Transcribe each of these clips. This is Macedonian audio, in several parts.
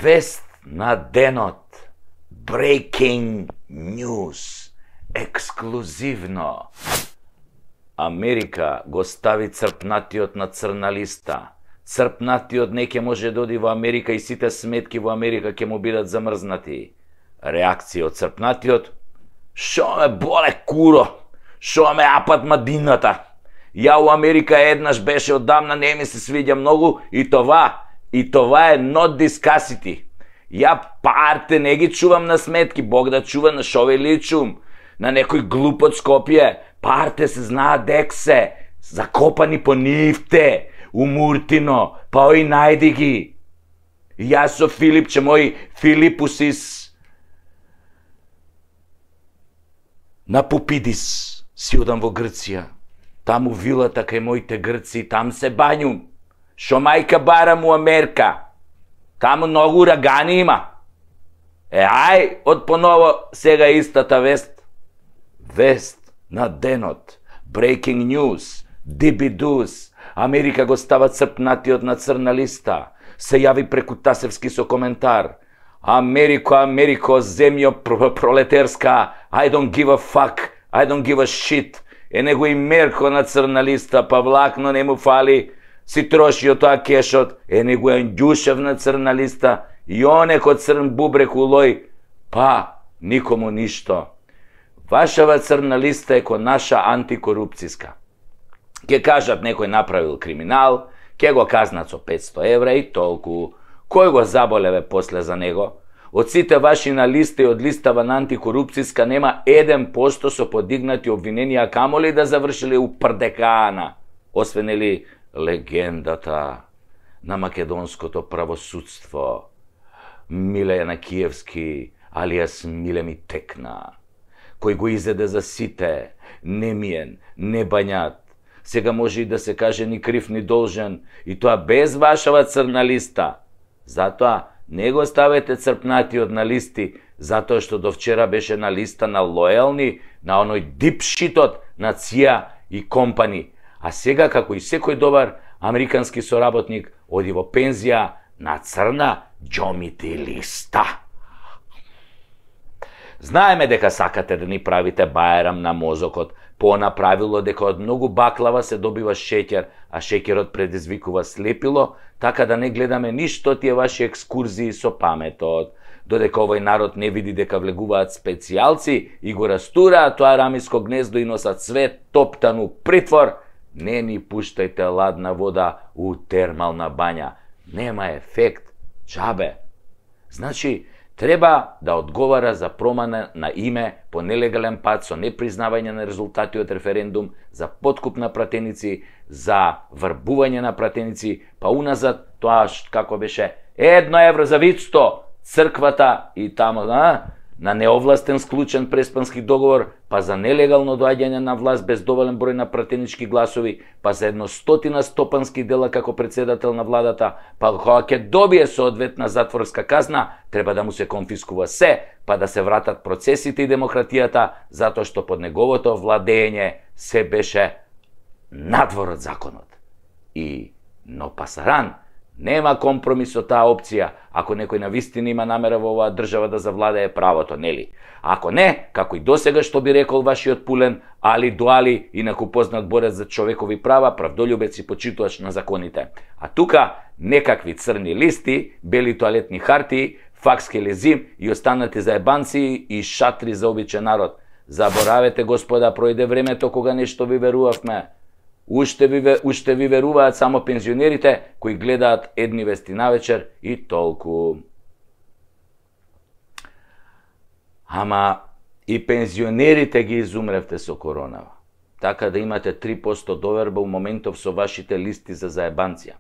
Вест на денот. Breaking news. Ексклузивно. Америка го стави црпнатиот на црна листа. Црпнатиот не ќе може да оди во Америка и сите сметки во Америка ќе му бидат замрзнати. Реакција од црпнатиот: шо ме боле куро, шо ме апат мадината. Ја у Америка еднаш беше, одамна не ми се свиѓа многу и това е not discussity. Ја парте не ги чувам на сметки, Бог да чува, на шо ви личум, на некој глуп од Скопје. Парте се знаат дек се, закопани по нивте, у Муртино, па ој најди ги. Јас со Филипче, мој Филипусис, на Пупидис си одам во Грција. Таму вилата кај моите грци, там се бањум. Шо мајка барам у Америка. Таму многу урагани има. Ај, од поново сега истата вест. Вест на денот. Breaking news. Дибидус. Америка го става црпнатиот на црна листа. Се јави преку Тасевски со коментар: Америко, земјо пролетерска, I don't give a fuck, I don't give a shit. Него и Мерко на црна листа, па влакно не му фали, си троши од тоа кешот. Него е Ѓушев на црна листа, и онеко црн бубрек улој, па никому ништо. Вашава црна листа е ко наша антикорупцијска. Ке кажат некој направил криминал, ке го казнат со 500 евра и толку. Кој го заболеве после за него? Од сите ваши на листа и од листава на антикорупцијска нема 1% со подигнати обвиненија, камоли да завршили у прдекана, освен ли легендата на македонското правосудство, Милена Киевски, алијас Миле ми текна, кој го изеде за сите, немиен, небањат. Сега може и да се каже ни крив ни должен, и тоа без вашава црна листа. Затоа не го ставете црпнатиот на листи, затоа што до вчера беше на листа на лојални, на оној дипшитот на ЦИА и компани. А сега, како и секој добар американски соработник, оди во пензија на црна џомити листа. Знаеме дека сакате да ни правите бајрам на мозокот, по направило дека од многу баклава се добива шеќер, а шеќерот предизвикува слепило, така да не гледаме ништо тие ваши екскурзии со паметот. Додека овој народ не види дека влегуваат специјалци и го растураат тоа рамиско гнездо и носат свет топтан у притвор, не ни пуштајте ладна вода у термална бања. Нема ефект, џабе. Значи, треба да одговара за промена на име по нелегален пат со непризнавање на резултати од референдум, за подкуп на пратеници, за врбување на пратеници, па уназад тоа како беше 1 евро за вицто, црквата и тамо на неовластен склучен преспански договор, па за нелегално доаѓање на власт без доволен број на пратенички гласови, па за 100 стопански дела како председател на владата, па кога ќе добие соодветна затворска казна, треба да му се конфискува се, па да се вратат процесите и демократијата, затоа што под неговото владење се беше надвор од законот. Но пасаран, нема компромис со таа опција, ако некој навистина има намера во оваа држава да завладее правото, нели? Ако не, како и досега што би рекол вашиот Пулен, Али Дуали, инаку познат борец за човекови права, правдолюбец и почитувач на законите. А тука некакви црни листи, бели тоалетни хартии, факски лезим и останати заебанци и шатри за обичен народ. Заборавете, господа, пројде времето кога нешто ви верувавме. Уште ви веруваат само пензионерите кои гледаат едни вести навечер и толку. Ама и пензионерите ги изумревте со коронава. Така да имате 3% доверба у моментов со вашите листи за заебанција.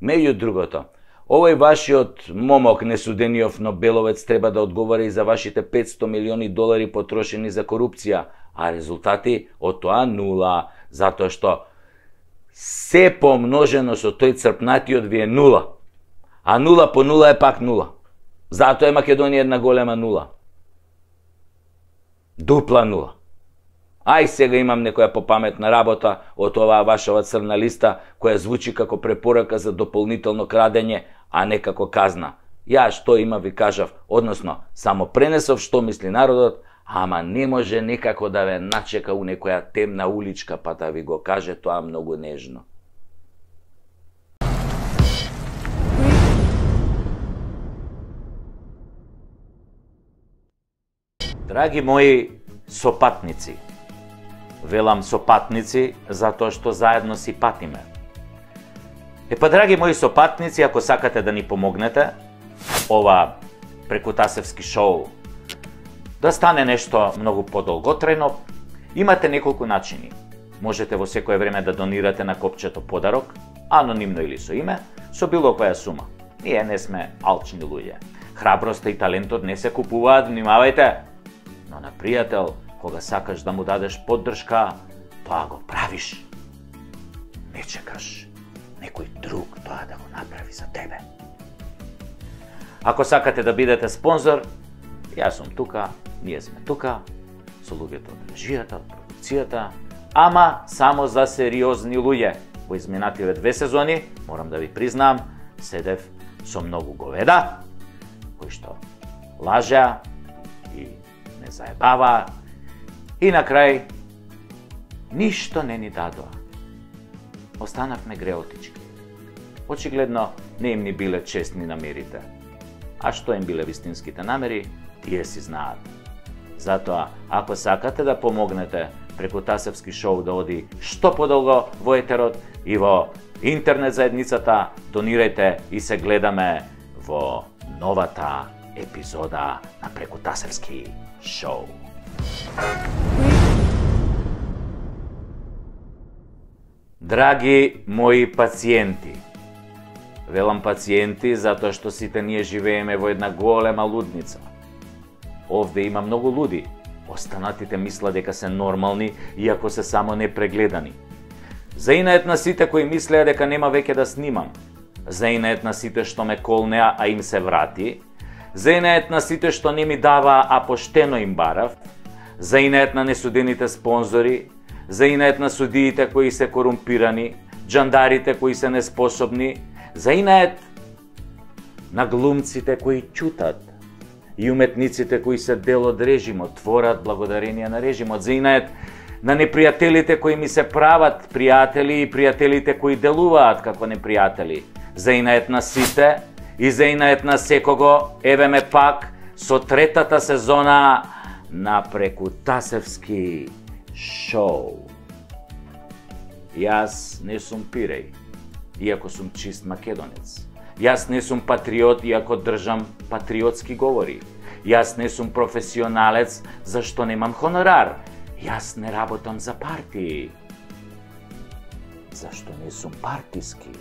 Меѓу другото, овој вашиот момок несудениот Нобеловец треба да одговара и за вашите $500 милиони потрошени за корупција, а резултати од тоа нула, затоа што се помножено со тој црпнатиот ви е нула. А нула по нула е пак нула. Затоа е Македонија една голема нула. Дупла нула. Ај сега имам некоја попаметна работа од оваа вашава црна листа, која звучи како препорака за дополнително крадење, а не како казна. Ја што има ви кажав, односно, само пренесов што мисли народот, ама не може некако да ве начека у некоја темна уличка, па да ви го каже тоа многу нежно. Драги мои сопатници, велам сопатници затоа што заедно си патиме. Драги мои сопатници, ако сакате да ни помогнете, ова Прекутасевски шоу да стане нешто многу подолготрајно, имате неколку начини. Можете во секое време да донирате на копчето подарок, анонимно или со име, со било која сума. Ние не сме алчни луѓе. Храброста и талентот не се купуваат, внимавајте. Но на пријател, кога сакаш да му дадеш поддршка, тоа го правиш. Не чекаш некој друг тоа да го направи за тебе. Ако сакате да бидете спонзор, јас сум тука, ние сме тука, со луѓето од режијата, од продукцијата, ама само за сериозни луѓе. Во изминативе 2 сезони, морам да ви признам, седев со многу говеда, кои што лажеа и не заебава, и на крај ништо не ни дадоа. Останавме греотички. Очигледно не им ни биле честни намерите. А што им биле вистинските намери, тие си знаат. Затоа, ако сакате да помогнете Прекутасевски шоу да оди што подолго во етерот и во интернет заедницата, донирајте и се гледаме во новата епизода на Прекутасевски шоу. Драги мои пациенти, велам пациенти затоа што сите ние живееме во една голема лудница. Овде има многу луди. Останатите мислат дека се нормални, иако се само непрегледани. Заинает на сите кои мислеа дека нема веќе да снимам. Заинает на сите што ме колнеа, а им се врати. Заинает на сите што не ми дава, а поштено им барав. Заинает на несудените спонзори. Заинает на судиите кои се корумпирани, џандарите кои се неспособни. Заинает на глумците кои ќутат и уметниците кои се дел од режимот, творат благодарение на режимот. Заинает на непријателите кои ми се прават пријатели и пријателите кои делуваат како непријатели. Заинает на сите и заинает на секого, еве ме пак со третата сезона на Прекутасевски шоу. Јас не сум пиреј, иако сум чист македонец. Јас не сум патриот, иако држам патриотски говори. Јас не сум професионалец, зашто немам хонорар. Јас не работам за партии, зашто не сум партиски.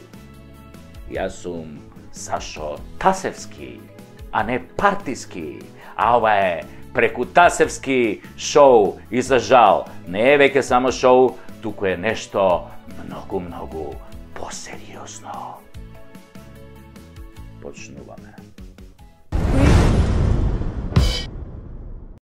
Јас сум Сашо Тасевски, а не партиски. А ова е Прекутасевски шоу и за жал не е веќе само шоу, туку е нешто многу посериозно. Почнувам.